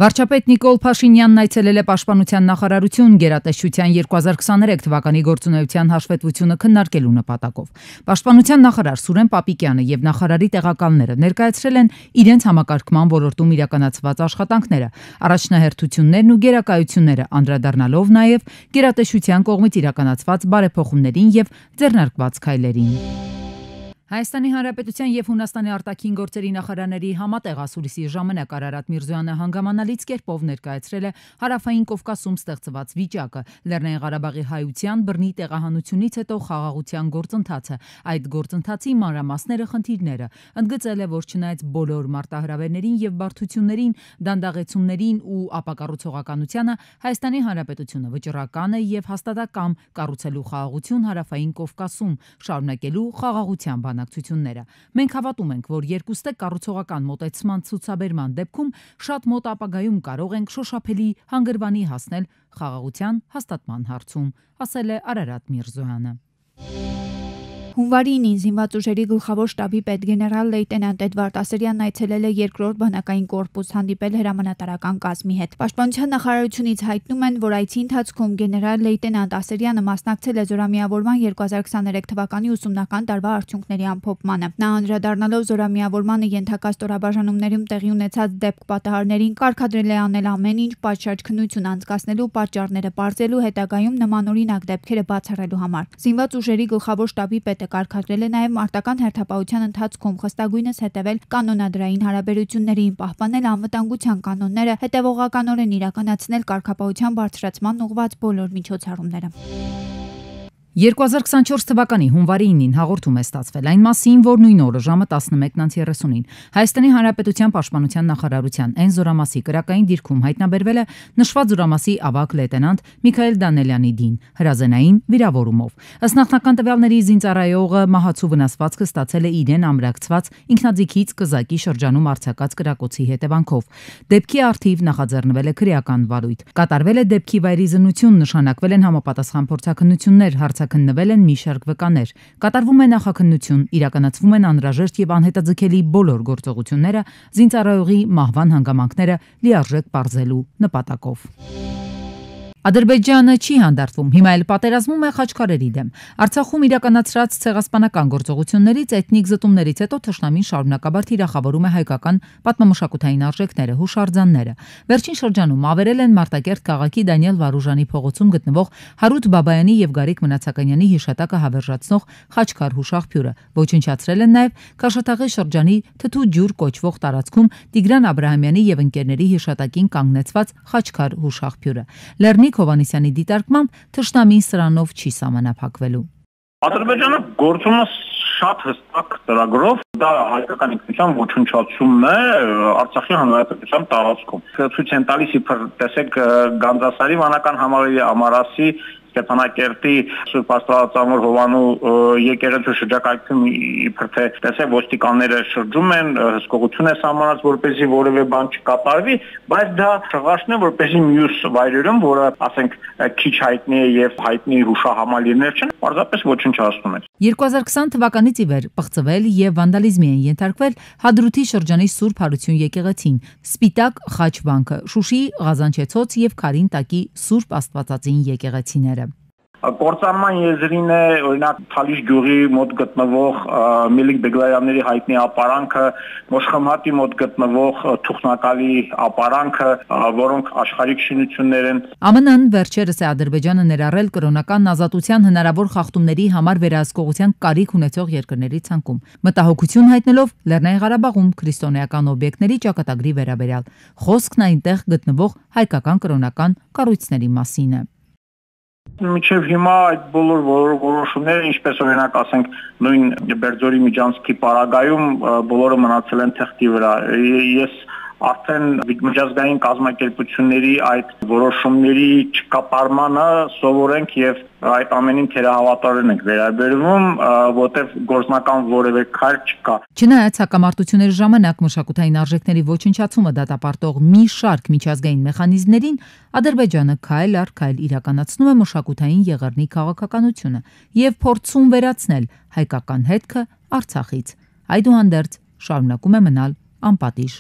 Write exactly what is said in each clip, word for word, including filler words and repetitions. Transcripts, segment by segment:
Վարչապետ Նիկոլ Փաշինյանն այցելել է Պաշտպանության նախարարություն գերատեսչության երկու հազար քսաներեք թվականի գործունեության հաշվետվությունը քննարկելու նպատակով։ Պաշտպանության նախարար Սուրեն Պապիկյանը եւ նախարարի տեղակալները ներկայացրել են իրենց համակարգման ոլորտում իրականացված աշխատանքները, առաջնահերթություններն ու գերակայությունները, անդրադառնալով նաեւ գերատեսչության կողմից իրականացված բարեփոխումներին եւ ձեռնարկված քայլերին։ Հայաստանի Հանրապետության եւ Հունաստանի արտաքին գործերի նախարարների համատեղ ասուլիսի ժամանակ Արարատ Միրզոյանը հանգամանալից կերպով ներկայացրել է Հարավային Կովկասում ստեղծված վիճակը, Լեռնային Ղարաբաղի հայության բռնի տեղահանությունից հետո խաղաղության գործընթացը, այդ գործընթացի մանրամասները, խնդիրները, ընդգծել է, որ չնայած բոլոր մարտահրավերներին եւ բարդություններին, դանդաղեցումներին ու ապակառուցողականությանը, Հայաստանի Հանրապետությունը վճռական է եւ հաստատակամ կառուցելու խաղաղություն Հարավային Կովկասում, շարունակելու խաղաղության բան Մենք հավատում ենք, որ երկուստեք կառուցողական մոտեցման ցուցաբերման դեպքում շատ մոտ ապագայում կարող ենք շոշափելի հանգրվանի հասնել խաղաղության հաստատման հարցում, ասել է Արարատ Միրզոյանը։ Հունվարի ինին զինված ուժերի գլխավոր շտաբի պետ գեներալ լեյտենանտ Էդվարդ Ասերյանն այցելել է երկրորդ բանակային կորպուս, հանդիպել հրամանատարական կազմի հետ։ Պաշտպանության նախարարությունից հայտնում են, որ այցի ընթացքում գեներալ լեյտենանտ Ասերյանը մասնակցել է զորամիավորման երկու հազար քսաներեք թվականի ուսումնական տարվա արդյունքների ամփոփմանը։ Նա անդրադառնալով զորամիավորմանը ենթակա ստորաբաժանումներում տեղի ունեցած դեպք պատահարներին կարգադրել է անել ամեն ինչ պատշաճ քննություն անցկացնելու, պատճառները պարզելու, հետագայում նմանօրինակ դեպքերը բացառելու համար։ Զինված ուժերի գլխավոր շտաբի պետ կարգադրել է նաև մարտական հերթապահության ընթացքում խստագույնս հետևել կանոնադրային հարաբերություններին, պահպանել անվտանգության կանոնները, հետևողականորեն իրականացնել կարգապահության բարձրացման ուղղված բոլոր միջոցառումները։ երկու հազար քսանչորս թվականի հունվարի ինին հաղորդում է ստացվել այն մասին, որ նույն օրը ժամը տասնմեկն անց երեսունին Հայաստանի Հանրապետության Պաշտպանության նախարարության N զորամասի կրակային դիրքում հայտնաբերվել է նշված զորամասի ավագ լեյտենանտ Միքայել Դանելյանի դին հրազենային վիրավորումով։ Ըստ նախնական տվյալների զինծառայողը մահացու վնասվածքը ստացել է իրեն ամրակցված ինքնաձիգից կզակի շրջանում արձակած կրակոցի հետևանքով։ Դեպքի առթիվ նախաձեռնվել է քրեական վարույթ։ Կատարվել է դեպքի վայրի զննություն, նշանակվել են համապատասխան փորձաքննություններ, Քննվել են մի շարք վկաներ, կատարվում է նախաքննություն, իրականացվում են անհրաժեշտ եւ անհետաձգելի բոլոր գործողությունները զինծառայողի մահվան հանգամանքները լիարժեք պարզելու նպատակով։ Ադրբեջանը չի հանդարտվում, հիմա էլ պատերազմում է խաչքարերի դեմ։ Արցախում իրականացրած ցեղասպանական գործողություններից, էթնիկ զտումներից հետո թշնամին շարունակաբար թիրախավորում է հայկական պատմամշակութային արժեքները, հուշարձանները։ Վերջին շրջանում ավերել են Մարտակերտ քաղաքի Դանիել Վարուժանի փողոցում գտնվող Հարութ Բաբայանի եւ Գարիկ Մնացականյանի հիշատակը հավերժացնող խաչքար հուշաղբյուրը, ոչնչացրել են նաեւ Քաշաթաղի շրջանի Թթու ջուր կոչվող տարածքում Տիգրան Աբրահամյանի եւ ընկերների հիշատակին կանգնեցված խաչքար հուշաղբյուրը։ Լեռնիկ Հովանեսյանի դիտարկմամբ թշնամին սրանով չի սահմանափակվելու։ Ադրբեջանը գործում է շատ հստակ ծրագրով, դա հայկական ինքնության ոչնչացումն է Արցախի հանրապետության տարածքում։ Ցույց են տալիս իբր տեսեք Գանձասարի վանական համալիրի, Ամարասի, Ստեփանակերտի Սուրբ Աստվածածանոր Հովանու եկեղեցու շրջակայքում իբր թե տեսեք ոստիկանները շրջում են, հսկողություն է սահմանած, որպեսզի որևէ բան չկատարվի, բայց դա շղարշն է, որպեսզի մյուս վայրերում, որը ասենք քիչ հայտնի է եւ հայտնի հուշահամալիրներ չեն, պարզապես ոչնչացնում են։ երկու հազար քսան թվականից ի վեր պղծվել եւ վանդալիզմի են ենթարկվել Հադրութի շրջանի Սուրբ Հարություն եկեղեցին, Սպիտակ խաչ վանքը, Շուշի Ղազանչեցոց եւ Քարին տակի Սուրբ Աստվածածին եկեղեցիները։ Կործանման եզրին է օրինակ Թալիշ գյուղի մոտ գտնվող Մելիք Բեգլայանների հայտնի ապարանքը, Մոշխամհատի մոտ գտնվող Թուխնակալի ապարանքը, որոնք աշխարհիկ շինություններ են։ ԱՄՆ-ն վերջերս է Ադրբեջանը ներառել կրոնական ազատության հնարավոր խախտումների համար վերահսկողության կարիք ունեցող երկրների ցանկում, մտահոգություն հայտնելով Լեռնային Ղարաբաղում քրիստոնեական օբյեկտների ճակատագրի վերաբերյալ։ Խոսքն այնտեղ գտնվող հայկական կրոնական կառույցների մասին է։ Մինչև հիմա այդ բոլոր որոշումները, ինչպես օրինակ ասենք նույն Բերձորի Միջանցքի պարագայում բոլորը մնացել են թղթի վրա։ Ես արդեն միջազգային կազմակերպությունների այդ որոշումների չկատարմանը սովորենք եւ այդ ամենին թերահավատորեն ենք վերաբերվում, որտեղ գործնական որևէ քայլ չկա։ Չնայած հակամարտությունների ժամանակ մշակութային արժեքների ոչնչացումը դատապարտող մի շարք միջազգային մեխանիզմներին, Ադրբեջանը քայլ առ քայլ իրականացնում է մշակութային եղեռնի քաղաքականությունը եւ փորձում վերացնել հայկական հետքը Արցախից։ Այդուհանդերձ շարունակում է մնալ անպատիժ։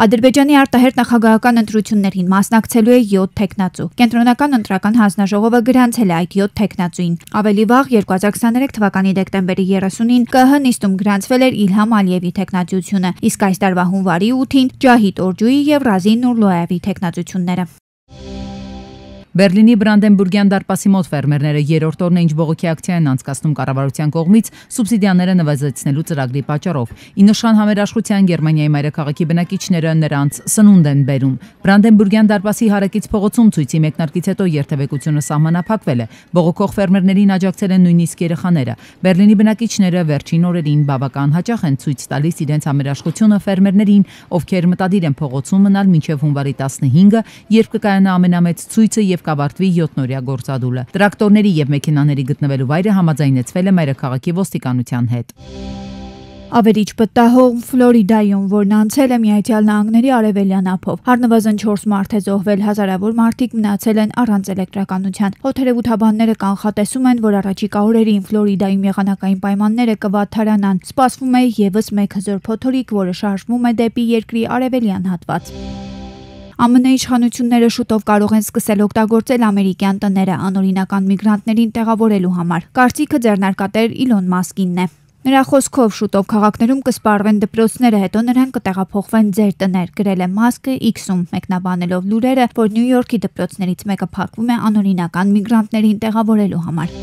Ադրբեջանի արտահերտ նախագահական ընտրություններին մասնակցելու է յոթ թեկնածու։ Կենտրոնական ընտրական հանձնաժողովը գրանցել է այդ յոթ թեկնածուին։ Ավելի վաղ երկու հազար քսաներեք թվականի դեկտեմբերի երեսունին ԿՀ նիստում գրանցվել էր Իլհամ Ալիևի թեկնածությունը, իսկ այս տարվա հունվարի ութին Ջահիդ Օրջուի եւ Ռազին Նուրլոևի թեկնածությունները։ Բերլինի Բրանդենբուրգյան դարպասի մոտ ֆերմերները երրորդ օրն ինչ բողոքի ակցիա են անցկացնում կառավարության կողմից սուբսիդիաները նվազեցնելու ծրագրի պատճառով։ Ի նշան համերաշխության Գերմանիայի մայրաքաղաքի բնակիչները նրանց սնունդ են բերում։ Բրանդենբուրգյան դարպասի հարակից փողոցում ցույցի մեկնարկից հետո երթևեկությունը սահմանափակվել է։ Բողոքող ֆերմերներին աջակցել են նույնիսկ երեխաները։ Բերլինի բնակիչները վերջին օրերին բավական հաճախ են ցույց տալիս իրենց համերաշխությունը ֆերմերներին, ովքեր մտադիր են փողոցում մնալ մինչև հունվարի տասնհինգը, երբ կկայանա ամենամեծ ցույցը եւ կավարտվի յոթնօրյա գործադուլը։ Տրակտորների եւ մեքենաների գտնվելու վայրը համաձայնեցվել է մայրաքաղաքի ոստիկանության հետ։ Ավերիչ պտտահող Ֆլորիդայում, որն անցել է Միացյալ Նահանգների արևելյան ափով, առնվազն չորս մարդ է զոհվել, հազարավոր մարդիկ մնացել են առանց էլեկտրականության։ Օդերևութաբանները կանխատեսում են, որ առաջիկա օրերին Ֆլորիդայում եղանակային պայմանները կվատթարանան։ Սպասվում է եւս մեկ հզոր փոթորիկ, որը շարժվում է դեպի երկրի արևելյան հատված։ ԱՄՆ իշխանությունները շուտով կարող են սկսել օգտագործել ամերիկյան տները անօրինական միգրանտներին տեղավորելու համար։ Կարծիքը ձեռնարկատեր Իլոն Մասկինն է։ Նրա խոսքով շուտով քաղաքներում կսպառվեն դպրոցները, հետո նրանք կտեղափոխվեն ձեր տներ, գրել է Մասկը X-ում, մեկնաբանելով լուրերը, որ Նյու Յորքի դպրոցներից մեկը փակվում է անօրինական միգրանտներին տեղավորելու համար։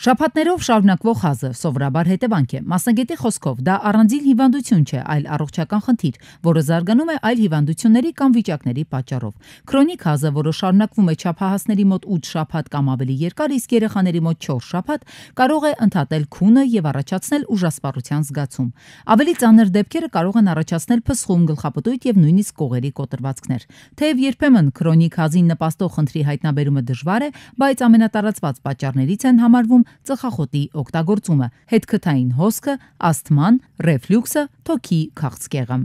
Շաբաթներով շարունակվող հազը սովորաբար հետևանք է։ Մասնագետի խոսքով դա առանձին հիվանդություն չէ, այլ առողջական խնդիր, որը զարգանում է այլ հիվանդությունների կամ վիճակների պատճառով։ Քրոնիկ հազը, որը շարունակվում է չափահասների մոտ ութ շաբաթ կամ ավելի երկար, իսկ երեխաների մոտ չորս շաբաթ, կարող է ընդհատել քունը եւ առաջացնել ուժասպառության զգացում։ Ավելի ծանր դեպքերը կարող են առաջացնել փսխում, գլխապտույտ եւ նույնիսկ կողերի կոտրվածքներ։ Թեև երբեմն քրոնիկ հազին նպաստող խնդրի հայտնաբերումը դժվար է, բայց ամենատարածված պատճառներից են համարվում ծխախոտի օգտագործումը, հետքթային հոսքը, ասթման, ռեֆլյուքսը, թոքի քաղցկեղը։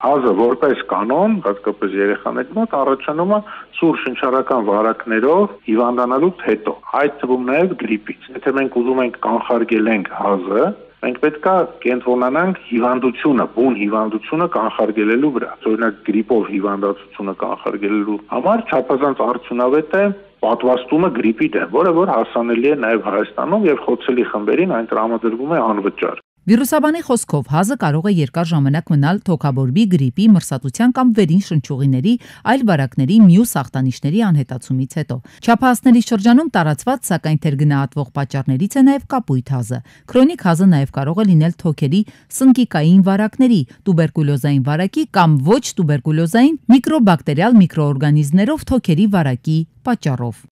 Հազը որպես կանոն, հատկապես երեխաների մոտ առաջանում է սուր շնչառական վարակներով հիվանդանալուց հետո, այդ թվում նաև գրիպից։ Եթե մենք ուզում ենք կանխարգելենք հազը, մենք պետք է կենտրոնանանք հիվանդությունը, բուն հիվանդությունը կանխարգելելու վրա։ Օրինակ գրիպով հիվանդացությունը կանխարգելելու համար չափազանց արդյունավետ է պատվաստումը գրիպի դեմ, որը որ հասանելի է նաև Հայաստանում եւ խոցելի խմբերին այն տրամադրվում է անվճար։ Վիրուսաբանի խոսքով հազը կարող է երկար ժամանակ մնալ թոքաբորբի, գրիպի, մրսատության կամ վերին շնչուղիների, այլ վարակների մյուս ախտանիշների անհետացումից հետո։ Չափահասների շրջանում տարածված, սակայն թերգնահատվող պատճառներից է նաև կապույտ հազը։ Քրոնիկ հազը նաև կարող է լինել թոքերի, սնկիկային վարակների, տուբերկուլոզային վարակի կամ ոչ տուբերկուլոզային միկրոբակտերիալ միկրոօրգանիզմներով թոքերի վարակի պատճառով։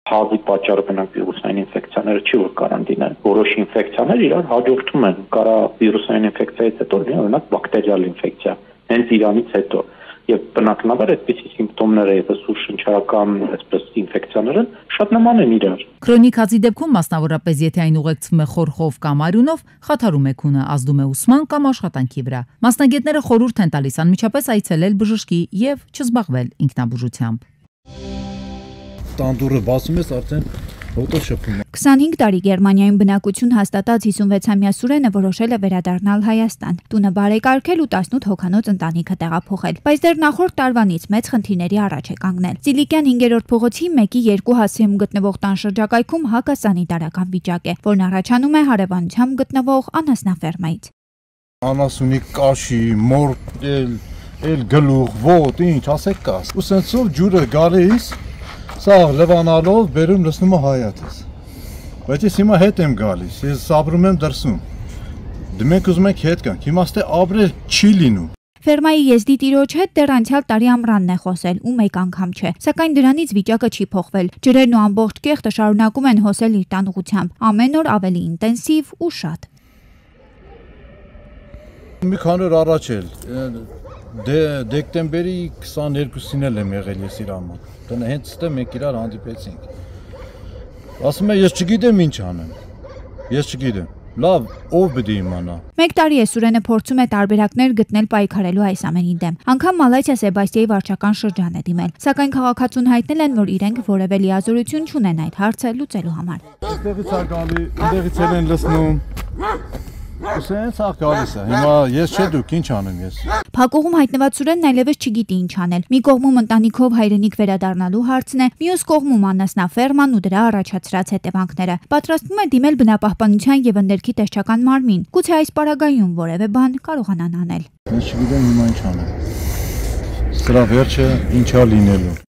Հազի պատճառը բնակ վիրուսային ինֆեկցիաները չի, որ կարանտինան։ Որոշ ինֆեկցիաներ իրար հաջորդում են, կարա վիրուսային ինֆեկցիայից հետո լինի օրինակ բակտերիալ ինֆեկցիա, հենց իրանից հետո։ Եվ բնականաբար այդպիսի սիմպտոմները եւ սուր շնչառական այսպես ինֆեկցիաները շատ նման են իրար։ Քրոնիկ հազի դեպքում մասնավորապես եթե այն ուղեկցվում է խորխով կամ արյունով, խաթարում է քունը, ազդում է ուսման կամ աշխատանքի վրա։ Մասնագետները խորհուրդ են տալիս անմիջապես այցելել բժշկի եւ չզբաղվել ինքնաբուժությամբ։ Տանդուրը բացում ես արդեն օտո շփում։ քսանհինգ տարի Գերմանիայում բնակություն հաստատած հիսունվեցամյա Սուրենը որոշել է վերադառնալ Հայաստան։ Տունը բարեկարգել ու տասնութ հոգանոց ընտանիքը տեղափոխել, բայց դեռ նախորդ տարվանից մեծ խնդիրների առաջ է կանգնել։ Ծիլիկյան հինգերորդ փողոցի մեկի երկու հասցեում գտնվող տան շրջակայքում հակասանիտարական վիճակ է, որն առաջանում է հարևանությամբ գտնվող անասնաֆերմայից։ Անասունի կաշի, մորթ, էլ գլուխ, ոտ, ինչ ասեք կաս։ Ու սենցով ջուրը գալիս Սա լվանալով բերում լսնում է հայատս, բայց ես հիմա հետ եմ գալիս, ես ապրում եմ դրսում, դմենք ուզում ենք հետ կանք, հիմա ստե ապրել չի լինում։ Ֆերմայի եզդի տիրոջ հետ դեռ անցյալ տարի ամռանն է խոսել ու մեկ անգամ չէ, սակայն դրանից վիճակը չի փոխվել, ջրերն ու ամբողջ կեղտը շարունակում են հոսել իր տան ուղղությամբ, ամեն օր ավելի ինտենսիվ ու շատ։ Մի քանի օր առաջ էլ, դեկտեմբերի քսաներկուսին էլ եմ եղել ես իր մոտ, տնը հենց ստե մենք իրար հանդիպեցինք, ասում է ես չգիտեմ ինչ անեմ, ես չգիտեմ, լավ, ով պետք է իմանա։ Մեկ տարի է Սուրենը փորձում է տարբերակներ գտնել պայքարելու այս ամենի դեմ, անգամ Մալայսիա Սեբաստիայի վարչական շրջան է դիմել, սակայն քաղաքացուն հայտնել են, որ իրենք որևէ լիազորություն չունեն այդ հարցը լուծելու համար։ Այստեղից է գալի, այնտեղից են լսնում։ Սենց ա գալիս է։ Հիմա ես չէ դուք ինչ անեմ ես։ Փակուղում հայտնված Սուրենն այլևս չգիտի ինչ անել։ Մի կողմում ընտանիքով հայրենիք վերադառնալու հարցն է, մյուս կողմում անասնաֆերման ու դրա առաջացրած հետևանքները։ Պատրաստվում է դիմել բնապահպանության եւ ընդերքի տեսչական մարմին։ Գուցե այս պարագայում որևէ բան կարողանան անել։ Ես չգիտեմ հիմա ինչ անեմ։ Սրա վերջը ինչա լինելու։